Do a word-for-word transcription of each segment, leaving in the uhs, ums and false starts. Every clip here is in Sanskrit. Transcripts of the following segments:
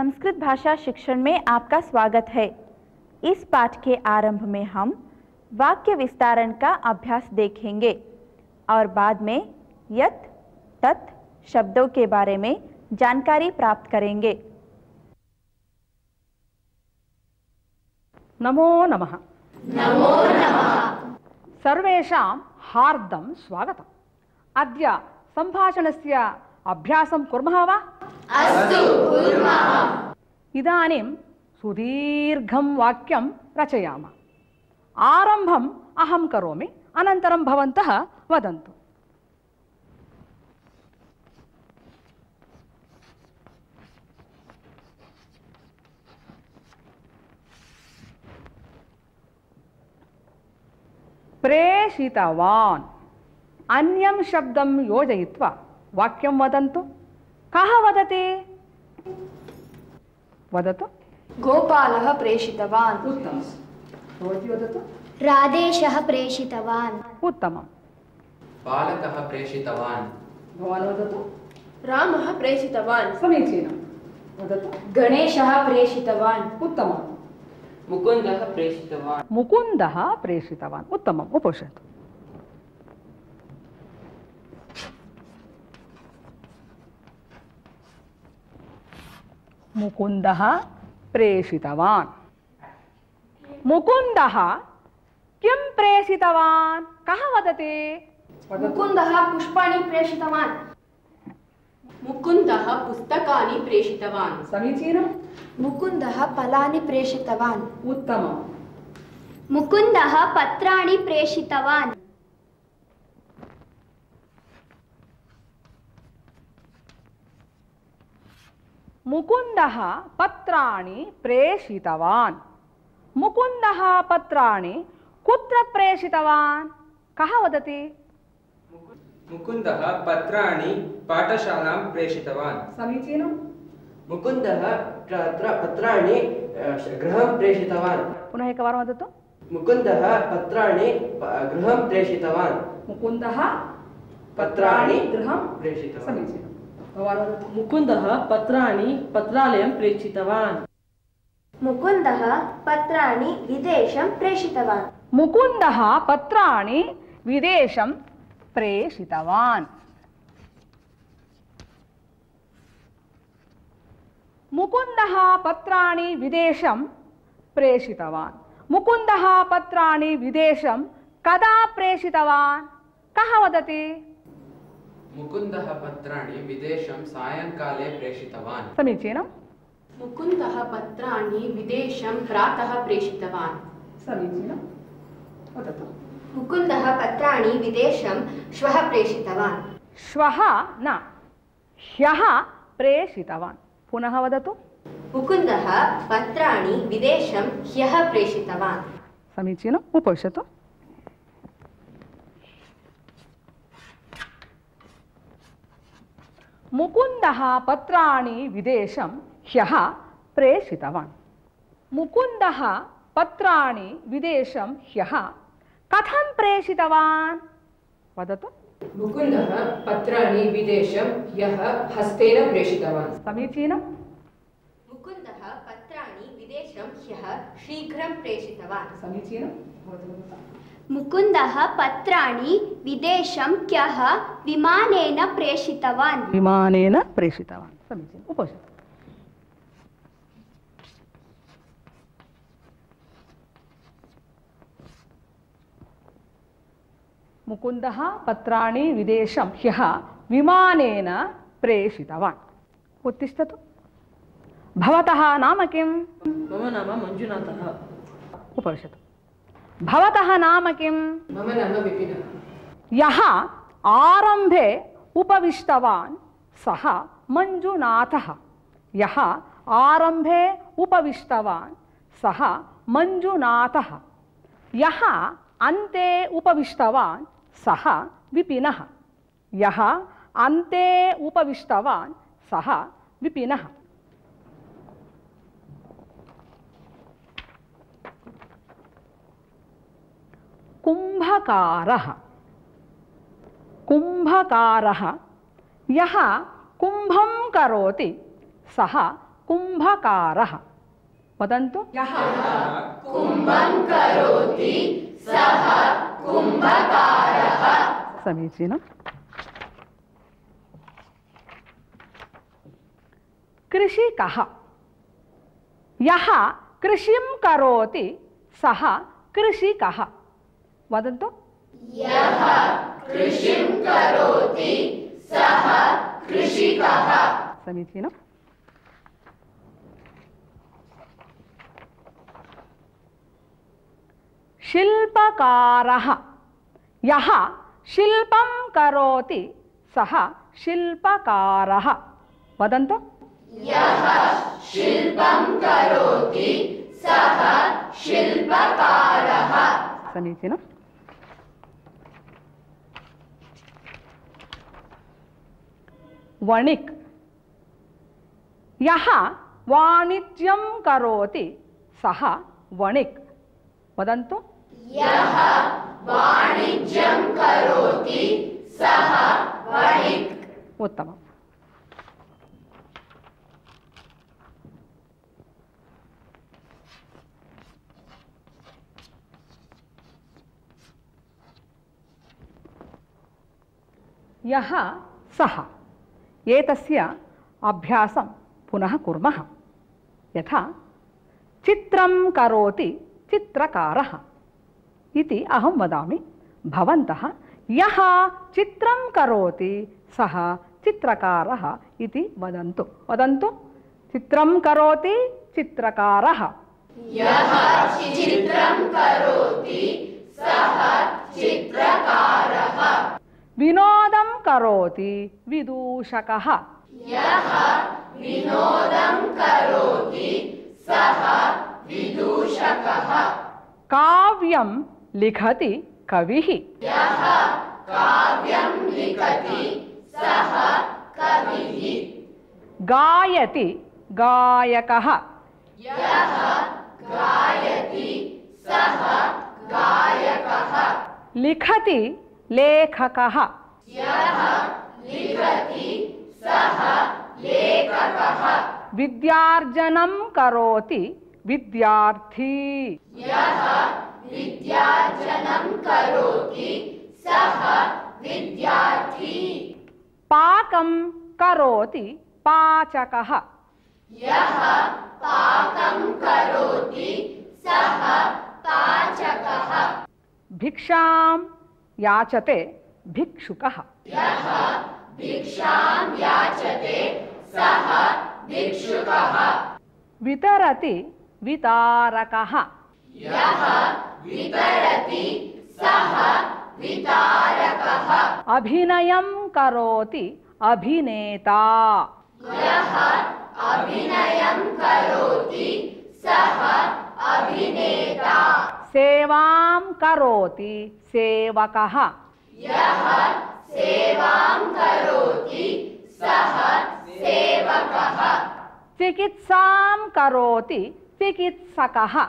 संस्कृत भाषा शिक्षण में आपका स्वागत है। इस पाठ के आरंभ में हम वाक्य विस्तारण का अभ्यास देखेंगे और बाद में यत् तत् शब्दों के बारे में जानकारी प्राप्त करेंगे। नमो नमः। नमो नमः। सर्वेषां हार्दं स्वागतम्। अद्य सम्भाषणस्य अभ्यासं कुर्मः वा? अस्तु, कुर्मः। इदानीं सुदीर्घं वाक्यं रचयामः। आरम्भम् अहं करोमि, अनन्तरं भवन्तः वदन्तु। प्रेषितवान्। अन्यं शब्दं योजयित्वा वाक्यं वदन्तु। कः वदति? वदतु। गोपालः प्रेषितवान्। उत्तमं। भवती वदतु। राधेशः प्रेषितवान्। उत्तमं। बालकः प्रेषितवान्। भवान् वदतु। रामः प्रेषितवान्। समीचीनं। वदतु। गणेशः प्रेषितवान्। उत्तमं। मुकुन्दः प्रेषितवान्। मुकुन्दः प्रेषितवान्। उत्तमम्। उपविशतु। मुकुन्दः प्रेषितवान्। मुकुन्दः किं प्रेषितवान्? कः वदति? मुकुन्दः पुष्पाणि प्रेषितवान्। मुकुन्दः पुस्तकानि प्रेषितवान्। समीचीनं। मुकुन्दः फलानि प्रेषितवान्। उत्तमं। मुकुन्दः पत्राणि प्रेषितवान्। मुकुन्दः पत्राणि प्रेषितवान्। मुकुन्दः पत्राणि कुत्र प्रेषितवान्? कः वदति? मुकुन्दः पत्राणि पाठशालां प्रेषितवान्। समीचीनं। मुकुन्दः पत्राणि गृहं प्रेषितवान्। पुनः एकवारं वदतु। मुकुन्दः पत्राणि गृहं प्रेषितवान्। मुकुन्दः पत्राणि गृहं प्रेषितवान्। समीचीनं। भवान् वदतु। मुकुन्दः पत्राणि पत्रालयं प्रेषितवान्। मुकुन्दः पत्राणि विदेशं प्रेषितवान्। मुकुन्दः पत्राणि विदेशं प्रेषितवान्। मुकुन्दः पत्राणि विदेशं प्रेषितवान्। मुकुन्दः पत्राणि विदेशं कदा प्रेषितवान्? कः वदति? मुकुन्दः पत्राणि विदेशं सायंकाले प्रेषितवान्। समीचीनं। मुकुन्दः पत्राणि विदेशं प्रातः प्रेषितवान्। समीचीनं। वदतु। मुकुन्दः पत्राणि विदेशं श्वः प्रेषितवान्। श्वः न, ह्यः प्रेषितवान्। पुनः वदतु। मुकुन्दः पत्राणि विदेशं ह्यः प्रेषितवान्। समीचीनम्। उपविशतु। मुकुन्दः पत्राणि विदेशं ह्यः प्रेषितवान्। मुकुन्दः पत्राणि विदेशं ह्यः कथं प्रेषितवान्? वदतु। मुकुन्दः पत्राणि विदेशं ह्यः हस्तेन प्रेषितवान्। समीचीनं। मुकुन्दः पत्राणि विदेशं ह्यः शीघ्रं प्रेषितवान्। समीचीनं। मुकुन्दः पत्राणि विदेशं ह्यः विमानेन प्रेषितवान्। विमानेन प्रेषितवान्। समीचीनम्। उपविशतु। मुकुन्दः पत्राणि विदेशं ह्यः विमानेन प्रेषितवान्। उत्तिष्ठतु। भवतः नाम किं? मम नाम मञ्जुनाथः। उपविशतु। भवतः नाम किं? मम नाम विपिनः। यः आरम्भे उपविष्टवान् सः मञ्जुनाथः। यः आरम्भे उपविष्टवान् सः मञ्जुनाथः। यः अन्ते उपविष्टवान् सः विपिनः। यः अन्ते उपविष्टवान् सः विपिनः। कुम्भकारः। कुम्भकारः यः कुम्भं करोति सः कुम्भकारः। वदन्तु। यः कुम्भं करोति सः कुम्भकारः। समीचीनम्। कृषिकः। यः कृषिं करोति सः कृषिकः। वदन्तु। यः कृषिं करोति सः कृषिकः। समीचीनम्। शिल्पकारः। यः शिल्पं करोति सः शिल्पकारः। वदन्तु। यः शिल्पं करोति सः शिल्पकारः। समीचीनम्। वणिक्। यः वाणिज्यं करोति सः वणिक्। वदन्तु। यः वाणिज्यं करोति सः वणिक्। उत्तमम्। यः सः। एतस्य अभ्यासं पुनः कुर्मः। यथा चित्रं करोति चित्रकारः इति अहं वदामि। भवन्तः यः चित्रं करोति सः चित्रकारः इति वदन्तु। वदन्तु। चित्रं करोति चित्रकारः। यः चित्रं करोति सः चित्रकारः। विनोदं करोति विदूषकः। यः विनोदं करोति सः विदूषकः। काव्यं लिखति कविः। यः काव्यं लिखति सः कविः। गायति गायकः। यः गायति सः गायकः। लिखति लेखकः। यः लिखति सः लेखकः। विद्यार्जनं करोति विद्यार्थी। यः विद्यार्जनं करोति सः विद्यार्थी। पाकं करोति पाचकः। यः पाकं करोति सः पाचकः। भिक्षां याचते भिक्षुकः। यः भिक्षां याचते सः भिक्षुकः। वितरति वितारकः। यः वितरति सः वितारकः। अभिनयं करोति अभिनेता। यः अभिनयं करोति सः अभिनेता। सेवां करोति सेवकः। यः सेवां करोति सः सेवकः। चिकित्सां करोति चिकित्सकः।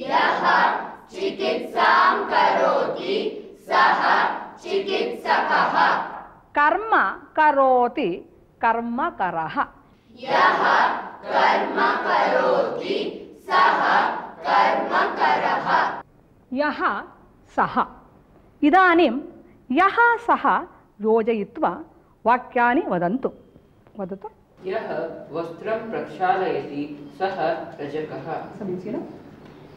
यः चिकित्सां करोति सः चिकित्सकः। कर्म करोति कर्मकरः। यः कर्म करोति सः कर्मकरः। यः सः। इदानीं यः सः योजयित्वा वाक्यानि वदन्तु। वदतु। यः वस्त्रं प्रक्षालयति सः रजकः। समीचीनम्।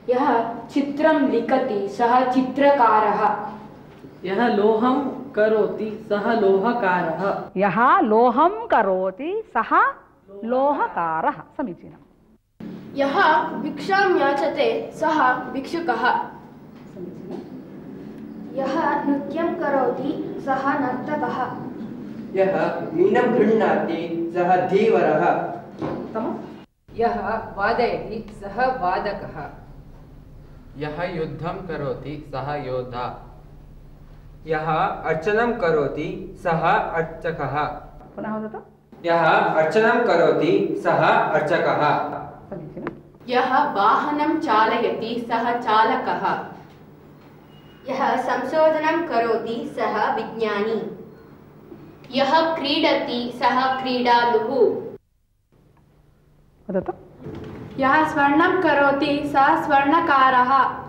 यः चित्रं लिखति सः चित्रकारः। यः लोहं करोति सः लोहकारः। यः लोहं करोति सः लोहकारः। समीचीनम्। यः भिक्षां याचते सः भिक्षुकः। यः नृत्यं करोति सः नर्तकः। यः मीनं गृह्णाति सः धीवरः। उत्तमम्। यः वादयति सः वादकः। यः युद्धं करोति सः योद्धा। यः अर्चनं करोति सः अर्चकः। पुनः वदतु। यः अर्चनं करोति सः अर्चकः। समीचीनम्। यः वाहनं चालयति सः चालकः। यः संशोधनं करोति सः विज्ञानी। यः क्रीडति सः क्रीडालुः। वदतु। यः स्वर्णं करोति सः स्वर्णकारः।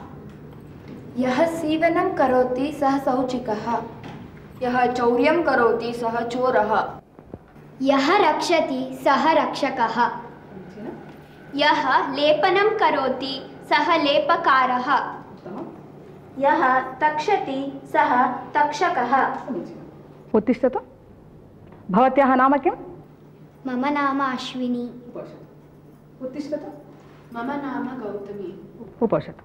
यः सीवनं करोति सः सौचिकः। यः चौर्यं करोति सः चोरः। यः रक्षति सः रक्षकः। यः लेपनं करोति सः लेपकारः। यः तक्षति सः तक्षकः। उत्तिष्ठतु। भवत्याः नाम किं? मम नाम अश्विनी। उत्तिष्ठतु। मम नाम गौतमी। उपविशतु।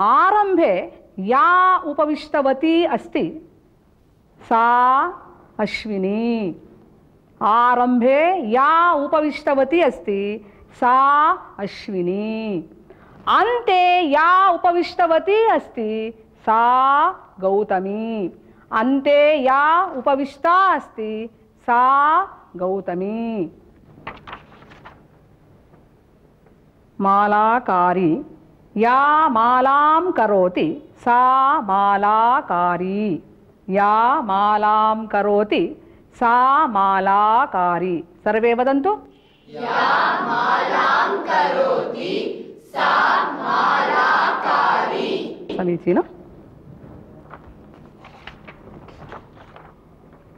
आरंभे या उपविष्टवती अस्ति सा अश्विनी। आरंभे या उपविष्टवती अस्ति सा अश्विनी। अन्ते या उपविष्टवती अस्ति सा गौतमी। अन्ते या उपविष्टा अस्ति सा गौतमी। मालाकारी। या मालां करोति सा मालाकारी। या मालां करोति सा मालाकारी। सर्वे वदन्तु। या मालां करोति सा मालाकारी। समीचीनम्।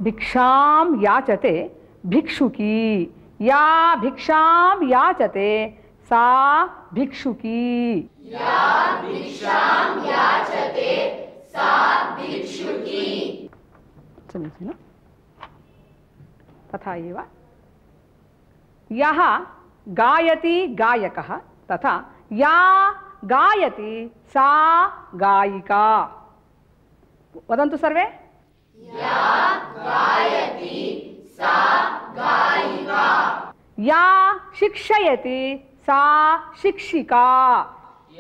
भिक्षां याचते भिक्षुकी। या भिक्षां याचते सा भिक्षुकी। या भिक्षां याचते सा भिक्षुकी। समीचीनम्। तथा एव यः गायति गायकः तथा या गायति सा गायिका। वदन्तु सर्वे। या गायति सा गायिका। या शिक्षयति सा शिक्षिका।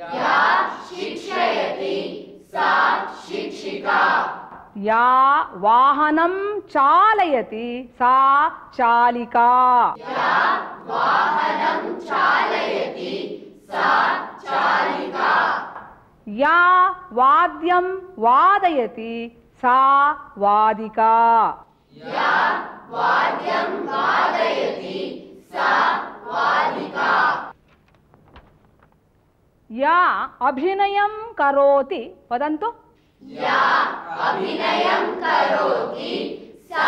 या शिक्षयति सा शिक्षिका। या वाहनं चालयति सा चालिका। या वाहनं चालयति सा चालिका। या वाद्यं वादयति सा वादिका। या वाद्यं वादयति सा वादिका। या अभिनयं करोति। वदन्तु। या अभिनयं करोति सा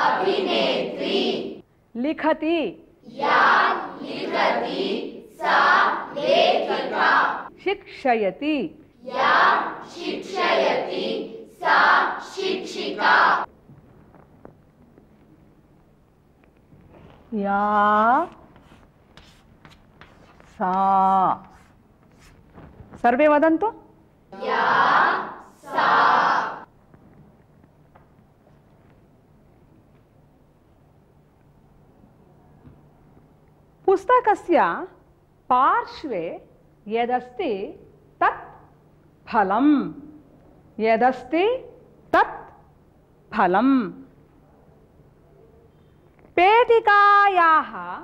अभिनेत्री। लिखति। या लिखति सा लेखिका। शिक्षयति। या शिक्षयति सा शिक्षिका। या सा। सर्वे वदन्तु। या सा। पुस्तकस्य पार्श्वे यदस्ति तत् फलम्। यदस्ति तत् फलम्। पेटिकायाः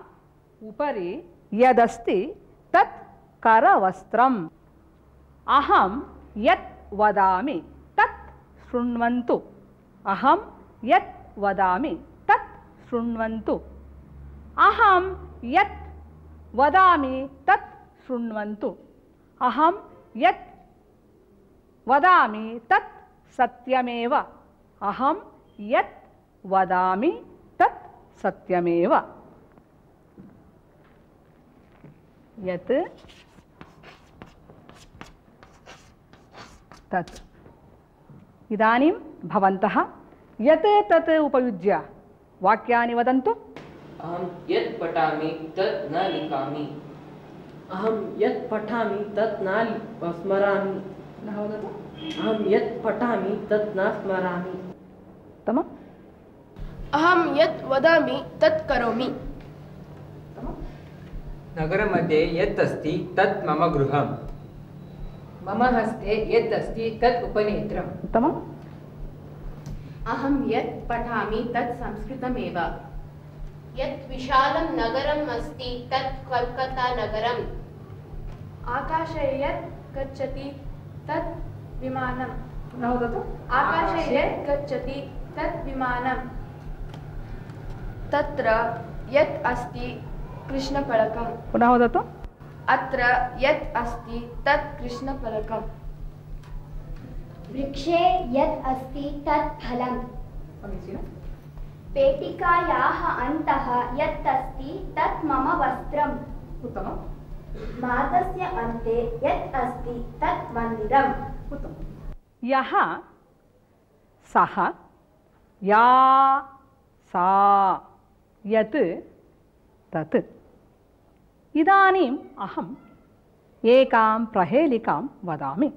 उपरि यदस्ति तत् करवस्त्रम्। अहं यत् वदामि तत् शृण्वन्तु। अहं यत् वदामि तत् शृण्वन्तु। अहं यत् वदामि तत् शृण्वन्तु। अहं यत् वदामि तत् सत्यमेव। अहं यत् वदामि तत् सत्यमेव। यत् तत्। इदानीं भवन्तः यत् तत् उपयुज्य वाक्यानि वदन्तु। अहं यत् पठामि तत् न लिखामि। अहं यत् पठामि तत् न स्मरामि। वदतु। अहं यत् पठामि तत् न स्मरामि। उत्तमम्। अहं यत् वदामि तत् करोमि। नगरमध्ये यत् अस्ति तत् मम गृहम्। मम हस्ते यत् अस्ति तत् उपनेत्रम्। उत्तमम्। अहं यत् पठामि तत् संस्कृतमेव। यत् विशालं नगरम् अस्ति तत् कोल्कता नगरम्। आकाशे यत् गच्छति तत् विमानम्। वदतु। आकाशे यत् गच्छति तत् विमानम्। तत्र यत् अस्ति कृष्णफलकम्। पुनः वदतु। अत्र यत् अस्ति तत् कृष्णफलकम्। वृक्षे यत् अस्ति तत् फलम्। पेटिकायाः अन्तः यत् अस्ति तत् मम वस्त्रम्। उत्तमम्। मार्गस्य अन्ते यत् अस्ति तत् मन्दिरम्। उत्तमम्। यः, सः, या, सा, यत्, तत्। इदानीम् अहम् एकां प्रहेलिकां वदामि।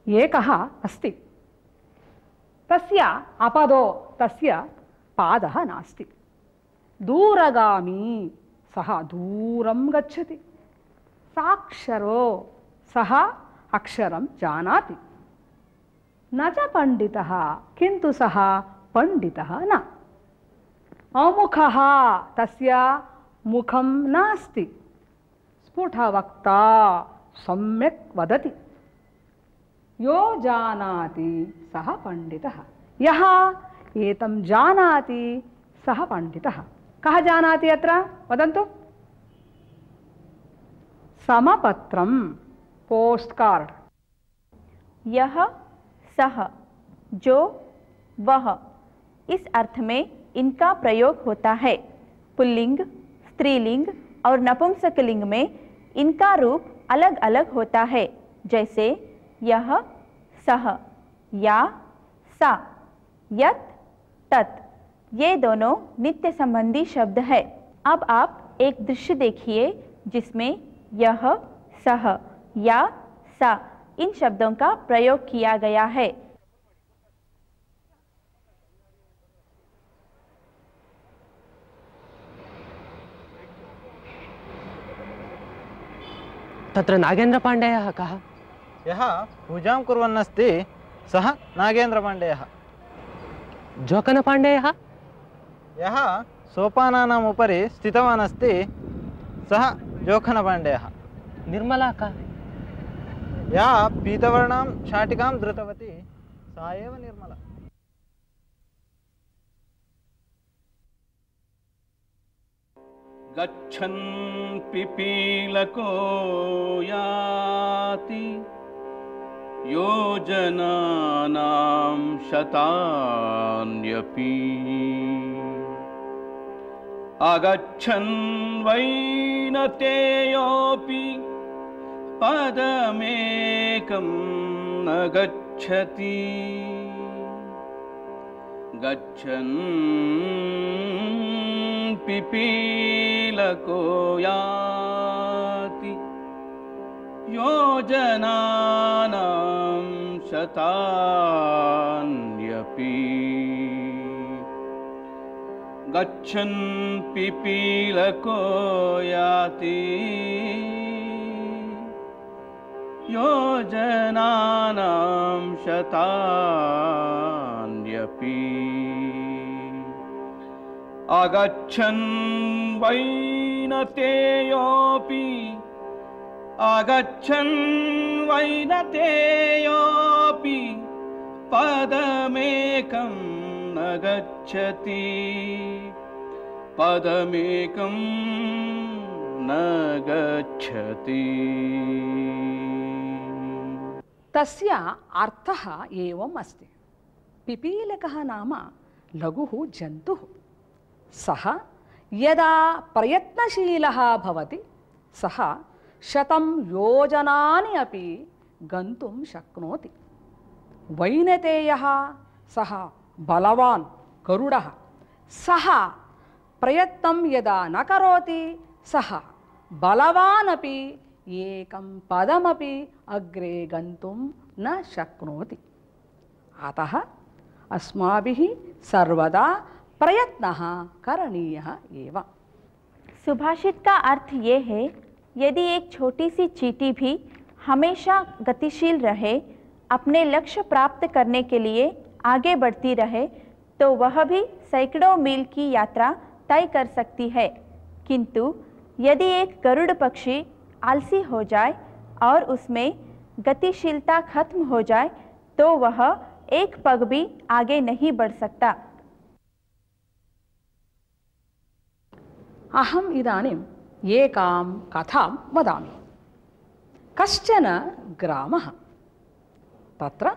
एकः अस्ति, तस्य अपदो तस्य पादः नास्ति। दूरगामी, सः दूरं गच्छति। साक्षरो, सः अक्षरं जानाति। न च पंडितः, किन्तु सः पंडितः न। अमुखः, तस्य मुखं नास्ति। स्फुटवक्ता, सम्यक् वदति। यो जानाति सः पंडितः। यः एतं जानाति सः पंडितः। कः जानाति अत्र वदन्तु? समपत्रं, पोस्ट कार्ड। यह, सह, जो, वह, इस अर्थ में इनका प्रयोग होता है। पुल्लिंग, स्त्रीलिंग और नपुंसकलिंग में इनका रूप अलग अलग होता है, जैसे यह, सह, या, सा, यत, तत्। ये दोनों नित्य संबंधी शब्द है। अब आप एक दृश्य देखिए जिसमें यह, सह, या, सा इन शब्दों का प्रयोग किया गया है। तत्र नागेन्द्रपाण्डेयः कः? यः पूजां कुर्वन्नस्ति सः नागेन्द्रपाण्डेयः। जोकनपाण्डेयः? यः सोपानानाम् उपरि स्थितवान् अस्ति सः जोखनपाण्डेयः। निर्मला का? या पीतवर्णां शाटिकां धृतवती सा एव निर्मला। गच्छन् पिपीलको याति योजनानां शतान्यपि आगच्छन् वैनतेयोऽपि पदमेकं न गच्छति गच्छन् पिपीलको याति योजनानां शतान्यपि गच्छन् पिपीलको याति योजनानां शतान्यपि आगच्छन् वैनतेयोऽपि आगच्छन् वैनतेयोऽपि पदमेकं न गच्छति पदमेकं न गच्छति। तस्य अर्थः एवम् अस्ति। पिपीलकः नाम लघुः जन्तुः। सः यदा प्रयत्नशीलः भवति सः शतं योजनानि अपि गन्तुं शक्नोति। वैनतेयः सः बलवान् गरुडः। सः प्रयत्नं यदा न करोति सः बलवान् अपि एकं पदमपि अग्रे गन्तुं न शक्नोति। अतः अस्माभिः सर्वदा प्रयत्नः करणीयः एव। सुभाषित का अर्थ ये है, यदि एक छोटी सी चींटी भी हमेशा गतिशील रहे, अपने लक्ष्य प्राप्त करने के लिए आगे बढ़ती रहे, तो वह भी सैकड़ों मील की यात्रा तय कर सकती है। किंतु यदि एक गरुड़ पक्षी आलसी हो जाए और उसमें गतिशीलता खत्म हो जाए, तो वह एक पग भी आगे नहीं बढ़ सकता। अहम इदानीम् एकां कथां वदामि। कश्चन ग्रामः, तत्र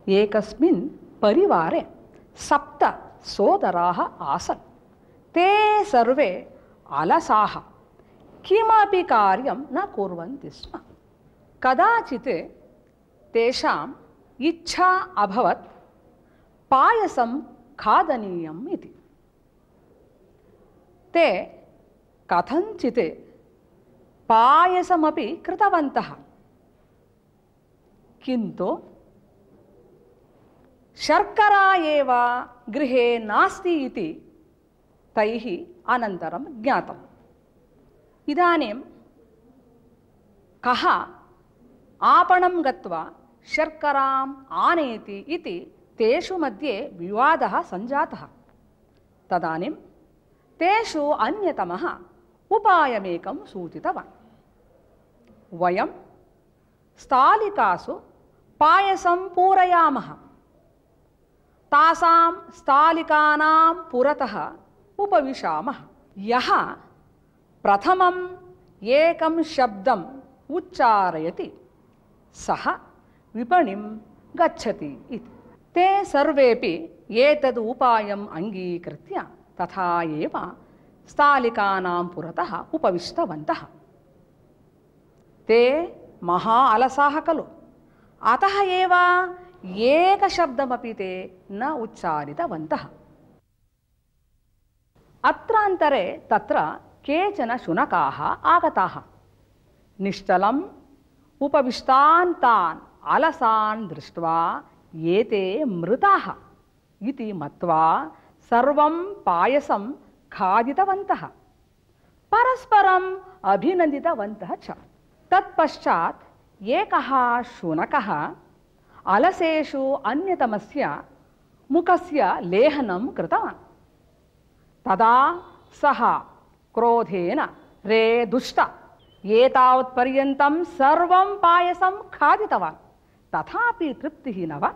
एकस्मिन् परिवारे सप्त सोदराः आसन्। ते सर्वे अलसाः, किमपि कार्यं न कुर्वन्ति स्म। कदाचित् तेषाम् इच्छा अभवत् पायसं खादनीयम् इति। ते कथञ्चित् पायसमपि कृतवन्तः, किन्तु शर्करा एव गृहे नास्ति इति तैः अनन्तरं ज्ञातम्। इदानीं कः आपणं गत्वा शर्कराम् आनयति इति तेषु मध्ये विवादः सञ्जातः। तदानीं तेषु अन्यतमः उपायमेकं सूचितवान्। वयं स्थालिकासु पायसं पूरयामः, तासां स्थालिकानां पुरतः उपविशामः। यः प्रथमम् एकं शब्दम् उच्चारयति सः विपणिं गच्छति इति। ते सर्वेपि एतद् उपायम् अङ्गीकृत्य तथा एव स्थालिकानां पुरतः उपविष्टवन्तः। ते महा अलसाः खलु, अतः एव एकशब्दमपि ते न उच्चारितवन्तः। अत्रान्तरे तत्र केचन शुनकाः आगताः। निश्चलम् उपविष्टान् तान् अलसान् दृष्ट्वा एते मृताः इति मत्वा सर्वं पायसं खादितवन्तः, परस्परम् अभिनन्दितवन्तः च। तत्पश्चात् एकः शुनकः अलसेषु अन्यतमस्य मुखस्य लेहनं कृतवान्। तदा सः क्रोधेन, रे दुष्ट, एतावत्पर्यन्तं सर्वं पायसं खादितवान्, तथापि तृप्तिः न वा?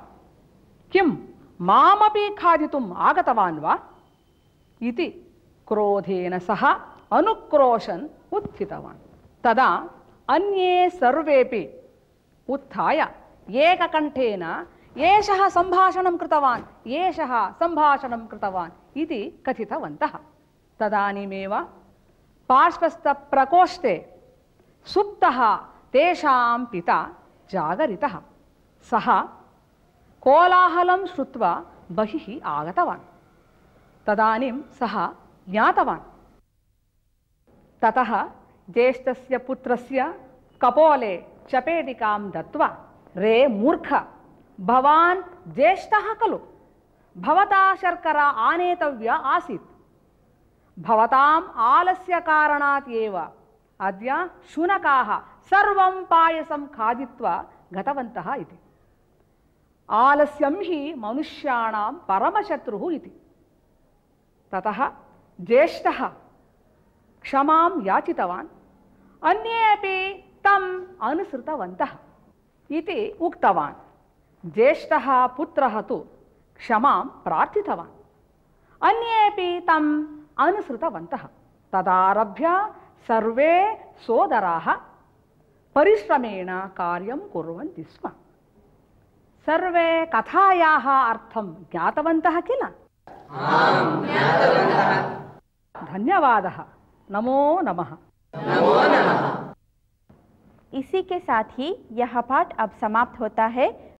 किं मामपि खादितुम् आगतवान् वा इति क्रोधेन सः अनुक्रोशन् उत्थितवान्। तदा अन्ये सर्वेपि उत्थाय एककण्ठेन एषः सम्भाषणं कृतवान्, एषः सम्भाषणं कृतवान् इति कथितवन्तः। तदानीमेव पार्श्वस्थप्रकोष्ठे सुप्तः तेषां पिता जागरितः। सः कोलाहलं श्रुत्वा बहिः आगतवान्। तदानीं सः ज्ञातवान्। ततः ज्येष्ठस्य पुत्रस्य कपोले चपेटिकां दत्त्वा, रे मूर्ख, भवान् ज्येष्ठः खलु, भवता शर्करा आनेतव्या आसीत्। भवताम् आलस्य कारणात् एव अद्य शुनकाः सर्वं पायसं खादित्वा गतवन्तः इति। आलस्यं हि मनुष्याणां परमशत्रुः इति। ततः ज्येष्ठः क्षमां याचितवान्, अन्ये अपि तम् अनुसृतवन्तः इति उक्तवान्। ज्येष्ठः पुत्रः तु क्षमां प्रार्थितवान्, अन्ये अपि तम् अनुसृतवन्तः। तदारभ्य सर्वे सोदराः परिश्रमेण कार्यं कुर्वन्ति स्म। सर्वे कथायाः अर्थं ज्ञातवन्तः किल? धन्यवादः। नमो नमः। नमो नमः। इसी के साथ ही यह पाठ अब समाप्त होता है।